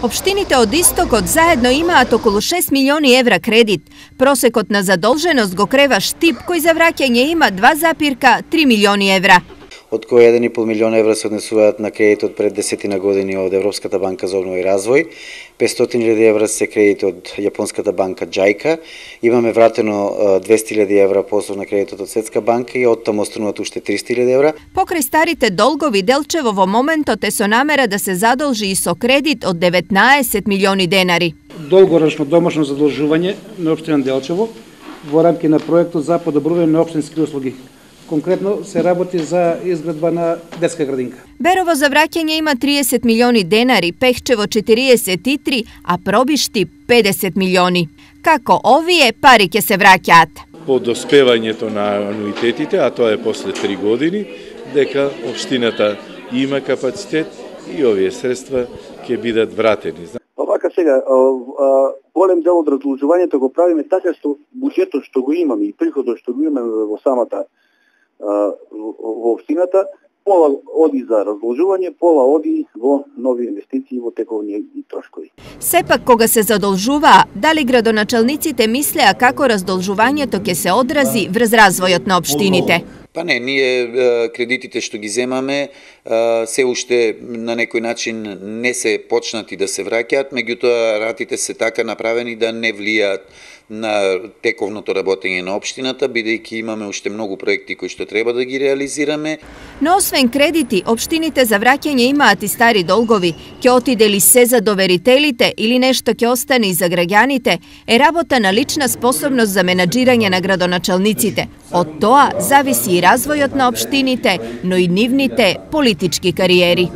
Општините од Истокот заедно имаат околу 6 милиони евра кредит. Просекот на задолженост го крева Штип, кој за враќање има 2,3 милиони евра. Од кои 1,5 милион евра се однесуваат на кредитот пред 10 години од Европската банка за обнова и развој, 500.000 евра се кредит од Јапонската банка JICA, имаме вратено 200.000 евра посlovна кредитот од Светска банка и оттаму остануваат уште 300.000 евра. Покрај старите долгови, Делчево во моментот е со намера да се задолжи и со кредит од 19 милиони денари. Долгорочно домашно задолжување на општина Делчево во рамки на проектот за подобрување на општински услуги. Конкретно се работи за изградба на детска градинка. Берово за враќање има 30 милиони денари, Пехчево 43, а Пробишти 50 милиони. Како овие пари ќе се враќаат? По доспевањето на ануитетите, а тоа е после 3 години, дека општината има капацитет и овие средства ќе бидат вратени. Овака сега, голем дел од разложувањето го правиме така што буџетот што го имаме и приходот што го имаме во самата во општината, пола оди за разложување, пола оди во нови инвестиции, во тековни и трошкови. Сепак кога се задолжуваа, дали градоначалниците мислеа како раздолжувањето ќе се одрази врз развојот на општините? Па не, ние кредитите што ги земаме се уште на некој начин не се почнати да се враќаат, меѓутоа ратите се така направени да не влијаат на тековното работење на општината, бидејќи имаме уште многу проекти кои што треба да ги реализираме. Но освен кредити, општините за враќање имаат и стари долгови. Ќе отиде ли се за доверителите или нешто ќе остане и за граѓаните, е работа на лична способност за менаџирање на градоначалниците. Од тоа зависи и развојот на општините, но и нивните политички кариери.